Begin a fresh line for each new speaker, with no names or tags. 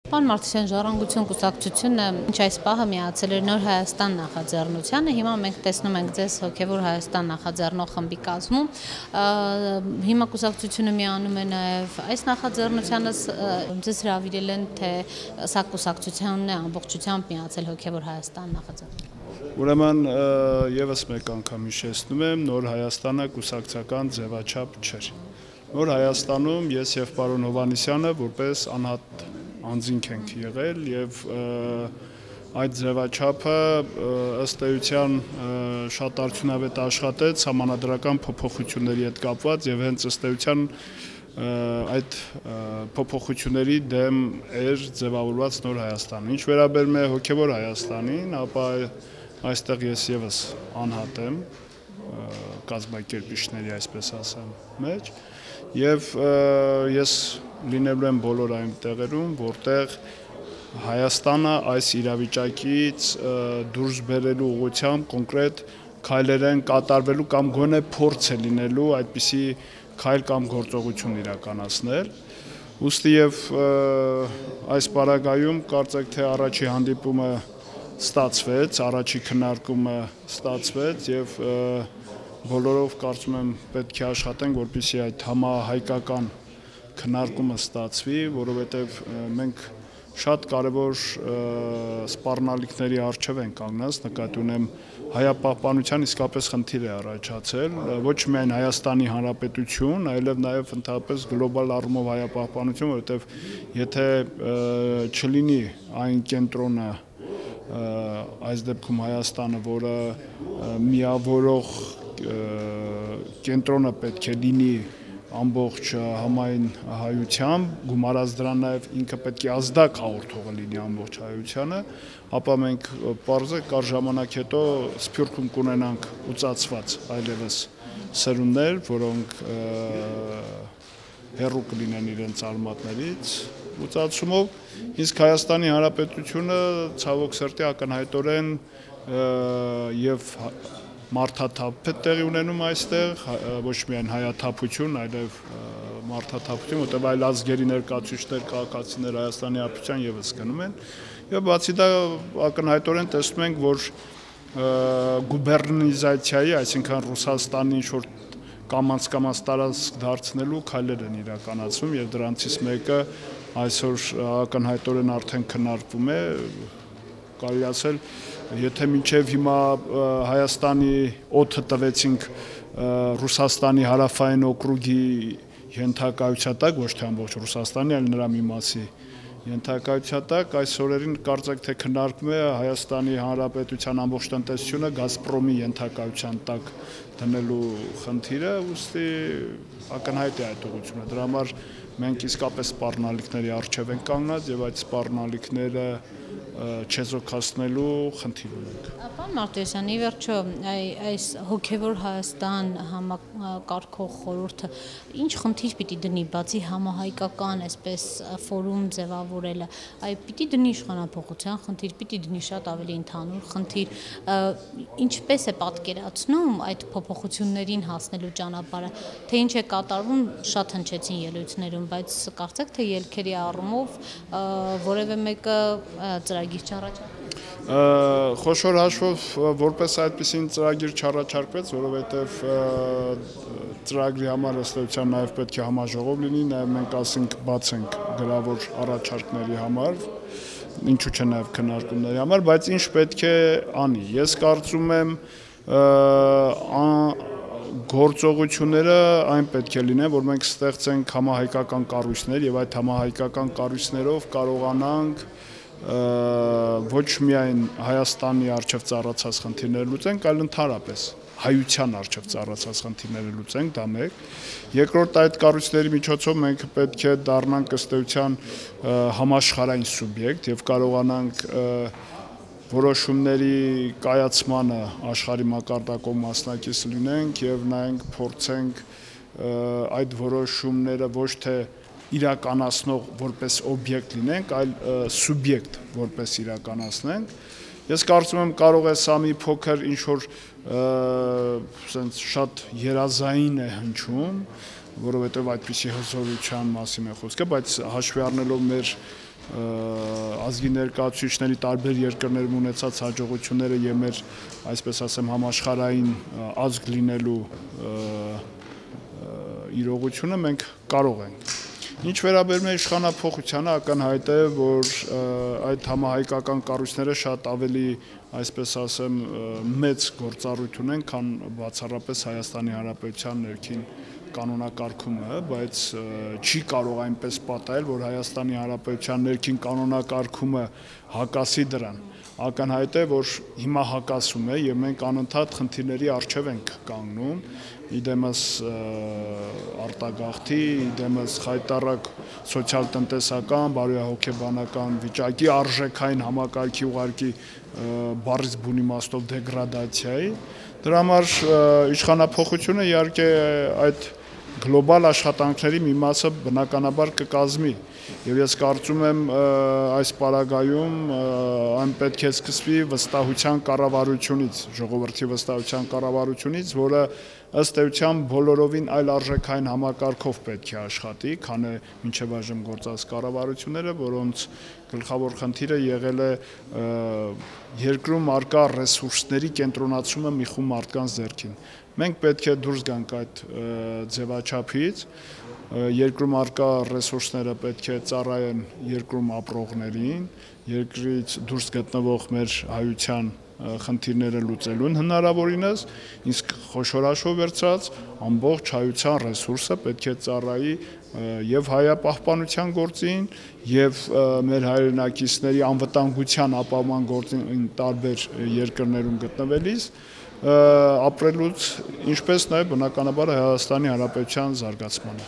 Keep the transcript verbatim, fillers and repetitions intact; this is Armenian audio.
Պարոն Մարտիրոսյան, Ժառանգություն կուսակցությունը ինչ այս պահը միացել էր Նոր Հայաստան նախաձեռնությանը, հիմա մենք տեսնում ենք ձեզ Հոգևոր Հայաստան նախաձեռնող խմբի կազմում, հիմա կուսակցությունը միանում է նաև այս նախաձեռնությանը, ձեզ հրավիրել են, թե սա կուսակցությունն է ամբողջությամբ միացել Հոգևոր Հայաստան նախաձեռնությանը։
Ուրեմն եւս մեկ անգամ հիշեցնում եմ, Նոր Հայաստանը կուսակցական ձևաչափ չէր։ Նոր Հայաստանում ես եւ պարոն Հովհաննիսյանը որպես անհատ անձինք ենք եղել եւ այդ ձևաչափը ըստ էության շատ արդյունավետ աշխատեց համանadrական փոփոխությունների հետ կապված եւ հենց ըստ էության այդ փոփոխությունների դեմ էր ձևավորված Նոր Հայաստանը։ Ինչ վերաբերում է Հոգևոր Հայաստանին, ապա այստեղ ես եւս անհատ եմ կազմակերպիչների, այսպես ասեմ, մեջ եւ ես լինելու եմ բոլոր այն տեղերում, որտեղ Հայաստանը այս իրավիճակից դուրս բերելու ուղղությամբ կոնկրետ քայլեր են կատարվելու կամ գոնե փորձ է լինելու այդպիսի քայլ կամ գործողություն իրականացնել։ Ուստի եւ այս պարագայում կարծեք թե առաջի հանդիպումը ստացվեց, առաջի քննարկումը ստացվեց եւ բոլորով կարծում եմ պետք է աշխատենք, որպեսզի այդ համահայկական քննարկումը ստացվի, որովհետև մենք շատ կարևոր սպառնալիքների առջև ենք կանգնած, նկատի ունեմ հայապահպանության իսկապես խնդիր է առաջացել, ոչ միայն Հայաստանի Հանրապետություն, այլև նաև ընդհանրապես գլոբալ առումով հայապահպանություն, որովհետև եթե չլինի այն կենտրոնը, այս դեպքում Հայաստանը, որը միավորող կենտրոնը պետք է լինի ամբողջ համայն հայությամբ, գումարած դրան նաև ինքը պետք է ազդակ հաղորդողը լինի ամբողջ հայությանը, ապա մենք պարզ է կար ժամանակ հետո սփյուռքում կունենանք ուծացված այլևս սերունդներ, որոնք հեռու կլինեն իրենց արմատներից ուծացումով, իսկ Հայաստանի Հանրապետությունը ցավոք սրտի ակնհայտորեն եւ մարդաթափ է տեղի ունենում այստեղ, ոչ միայն հայաթափություն, այլև մարդաթափություն, որտեղ այլ ազգերի ներկայացուցիչներ, քաղաքացիներ Հայաստանի Հանրապետության եւս գնում են, եւ բացի դա ակնհայտորեն տեսնում ենք, որ գուբերնիզացիայի, այսինքն Ռուսաստանի ինչ-որ կամաց-կամաց տարածք դարձնելու քայլեր են իրականացվում եւ դրանցից մեկը այսօր ակնհայտորեն արդեն քննարկվում է, կարելի ասել, եթե մինչև հիմա Հայաստանի օդը տվեցինք Ռուսաստանի հարավային օկրուգի ենթակայության տակ, ոչ թե ամբողջ Ռուսաստանի, այլ նրա մի մասի ենթակայության տակ, այս օրերին կարծեք թե քննարկվում է Հայաստանի Հանրապետության ամբողջ տնտեսությունը Գազպրոմի ենթակայության տակ դնելու խնդիրը, ուստի ակնհայտ է այդ ուղղությունը։ Դրա համար մենք իսկապես սպառնալիքների առջև ենք կանգնած եւ այդ սպառնալիքները չեզոքացնելու խնդիր ունենք։
Պարոն Մարտիրոսյան, ի վերջո այս Հոգևոր Հայաստան համակարգող խորհուրդը ինչ խնդիր պիտի դնի, բացի համահայկական այսպես ֆորում ձևավորելը, այ պիտի դնի իշխանապողության խնդիր, պիտի դնի շատ ավելի ընդհանուր խնդիր, ինչպես է պատկերացնում այդ փոփոխություններին հասնելու ճանապարհը, թե ինչ է կատարվում, շատ հնչեցին ելույթներում, բայց կարծեք թե ելքերի առումով որևէ մեկը ծրագիր չառաջարկվեց։
Խոշոր հաշվով որպես այդպիսին ծրագիր չառաջարկվեց, որովհետև ծրագրի համար ըստ էության նաև պետք է համաժողով լինի, նաև մենք ասենք բաց ենք գրավոր առաջարկների համար, ինչու՞ չէ նաև քննարկումների համար, բայց ինչ պետք է անի։ Ես կարծում եմ գործողությունները այն պետք է լինեն, որ մենք ստեղծենք համահայկական կառույցներ եւ այդ համահայկական կառույցներով կարողանանք ոչ միայն Հայաստանի առջև ծառացած խնդիրները լուծենք, այլ ընդհանրապես հայության առջև ծառացած խնդիրները լուծենք, դա մեկ։ Երկրորդ, այդ կառույցների միջոցով մենք պետք է դառնանք ըստ էության համաշխարհային սուբյեկտ եւ կարողանանք որոշումների կայացմանը աշխարհի մակարդակով մասնակից լինենք եւ նայենք փորձենք այդ որոշումները ոչ թե իրականացնող որպես օբյեկտ լինենք, այլ սուբյեկտ որպես իրականացնենք Ես կարծում եմ կարող է սա մի փոքր ինչ որ շատ երազային է հնչում, որովհետև այդպիսի հզորության մասին է խոսքը, բայց հաշվի առնելով մեր ազգի ներկայացուցիչների տարբեր երկրներում ունեցած հաջողությունները եւ մեր, այսպես ասեմ, համաշխարհային ազգ լինելու իրողությունը մենք կարող ենք։ Ինչ վերաբերում է իշխանափոխությանը, ակնհայտ է, որ այդ համահայկական կառույցները շատ ավելի, այսպես ասեմ, մեծ գործառույթ ունեն, քան բացառապես Հայաստանի Հանրապետության ներքին կանոնակարգումը, բայց չի կարող այնպես պատահել, որ Հայաստանի Հանրապետության ներքին կանոնակարգումը հակասի դրան։ Ակնհայտ է, որ հիմա հակասում է եւ մենք անընդհատ խնդիրների առջեւ ենք կանգնում, իդեմս արտագաղթի, իդեմս խայտառակ սոցիալ-տնտեսական, բարոյահոգեբանական վիճակի, արժեքային համակարգի ուղղակի բառից բուն իմաստով դեգրադացիայի։ Դրա համար իշխանափոխությունը իհարկե այդ գլոբալ աշխատանքների մի մասը բնականաբար կկազմի եւ ես կարծում եմ այս պարագայում այն պետք է սկսվի վստահության կառավարությունից, ժողովրդի վստահության կառավարությունից, որը ըստ էության բոլորովին այլ արժեքային համակարգով պետք է աշխատի, քան է մինչև այժմ գործած կառավարությունները, որոնց գլխավոր խնդիրը եղել է երկրում առկա ռեսուրսների կենտրոնացումը մի խումբ մարդկանց ձեռքին։ Մենք պետք է դուրս գանք այդ ձևաչափից, երկրում առկա ռեսուրսները պետք է ծառայեն երկրում ապրողներին, երկրից դուրս գտնվող մեր հայության խնդիրները լուծելուն հնարավորինս, իսկ խոշորաշով վերցրած ամբողջ հայության ռեսուրսը պետք է ծառայի եւ հայապահպանության գործին եւ մեր հայրենակիցների անվտանգության ապահովման գործին տարբեր երկրներում գտնվելիս ապրելուց, ինչպես նաեւ բնականաբար Հայաստանի Հանրապետության զարգացմանը։